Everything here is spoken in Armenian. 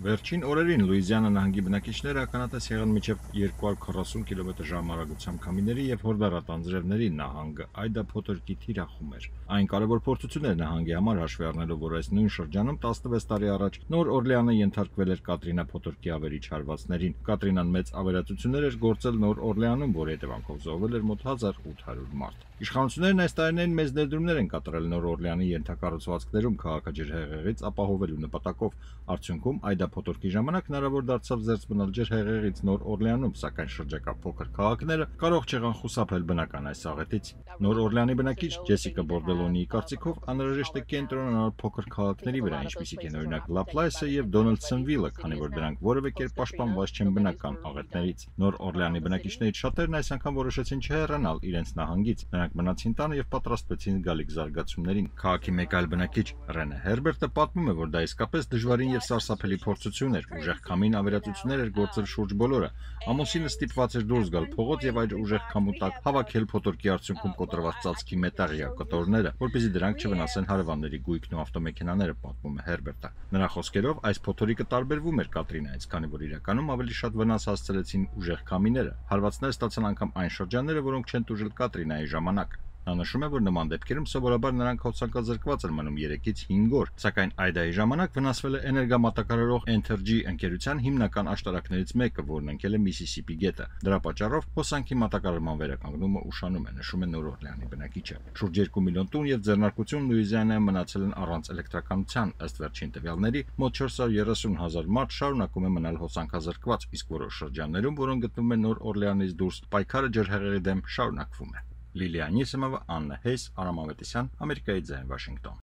Վերջին օրերին Լուիզիանա նահանգի բնակիչները ականատես եղան մինչև 240 կմ/ժ արագությամբ քամիների եւ հորդառատ անձրևների նահանգը Այդա Փոթորկի թիրախում էր։ Այն կարևոր փորձություն էր նահանգի համար, հաշվի առնելով, որ այս նույն շրջանում 16 տարի առաջ Նոր Օրլեանը ենթարկվել էր Կատրինա Փոթորկի ավերիչ հարվածներին։ Կատրինան մեծ ավերածություններ էր գործել Նոր Օրլեանում, որի հետևանքով զոհվել էր մոտ 1800 մարդ։ Իշխանություններն այս տարիներին մեծ ներդրումներ են կատարել Նոր Օրլեանի ենթակառուցվածքներում քաղաքաջրհեղեղից ապահովելու նպատակով։ Արդյունքում Այդա Փոթորկի ժամանակ հնարավոր դարձավ զերծ մնալ ջրհեղեղից Նոր Օրլեանում, սակայն շրջակա փոքր քաղաքները կարող չեղան խուսափել բնական այս աղետից։ Նոր Օրլեանի բնակիչ Ջեսիկա Բորդելոնիի կարծիքով անհրաժեշտ է կենտրոնանալ փոքր քաղաքների վրա, ինչպիսիք են օրինակ Լապլայսը եւ Դոնալդսոնվիլը, քանի որ դրանք որևէ կերպ պաշտպանված չեն բնական աղետներից։ Նոր Օրլեանի բնակիչներից շատերն այս անգամ որոշեցին չհեռանալ իրենց նահանգից։ Նրանք մնացին տանը եւ պատրաստվեցին գալիք զարգացումներին։ Քաղաքի մեկ այլ բնակիչ Ռենե Հերբերտը պատմում է, որ դա իսկապես դժվարին եւ սարսափելի փորձություն էր։ Ուժեղ քամին ավերածություններ էր գործել շուրջ բոլորը։ Ամուսինը ստիպված էր դուրս գալ փողոց եւ այդ ուժեղ քամու տակ հավաքել Փոթորկի արդյունքում կոտրված ծածկի մետաղյա կտորները, որպեսզի դրանք չվնասեն հարևանների գույքն ու ավտոմեքենաները, պատմում է Հերբերտը։ Նրա խոսքերով այս փոթորիկը տարբերվում էր Կատրինայից, քանի որ իրականում ավելի շատ վնաս հասցրեցին ուժեղ քամիները։ Հարվածներ ստացան անգամ այն շրջանները, որոնք չեն տուժել Կատրինայի ժամանակ։ Նա նշում է, որ նման դեպքերում սովորաբար նրանք հոսանկազրկված են մնում 3-ից 5 օր, սակայն Այդայի ժամանակ վնասվել է էներգամատակարարող Entergy ընկերության հիմնական աշտարակներից մեկը, որն ընկել է Միսիսիպի գետը։ Դրա պատճառով հոսանքի մատակարարման վերականգնումը ուշանում է, նշում է Նոր Օրլեանի բնակիչը։ Շուրջ 2 միլիոն տուն եւ ձեռնարկություն Լուիզիանայում մնացել են առանց էլեկտրականության, ըստ վերջին տվյալների, մոտ 430,000 մարդ շարունակում է մնալ հոսանքազրկված, իսկ որոշ շրջաններում, որոնք գտնվում են Նոր Օրլեանից դուրս, պայքարը ջրհեղեղի դեմ շարունակվում է։ Լիլիա Նիսիմովա, Աննա Հեյս, Արամ Ավետիսյան, Ամերիկայի ձայն, Վաշինգտոն։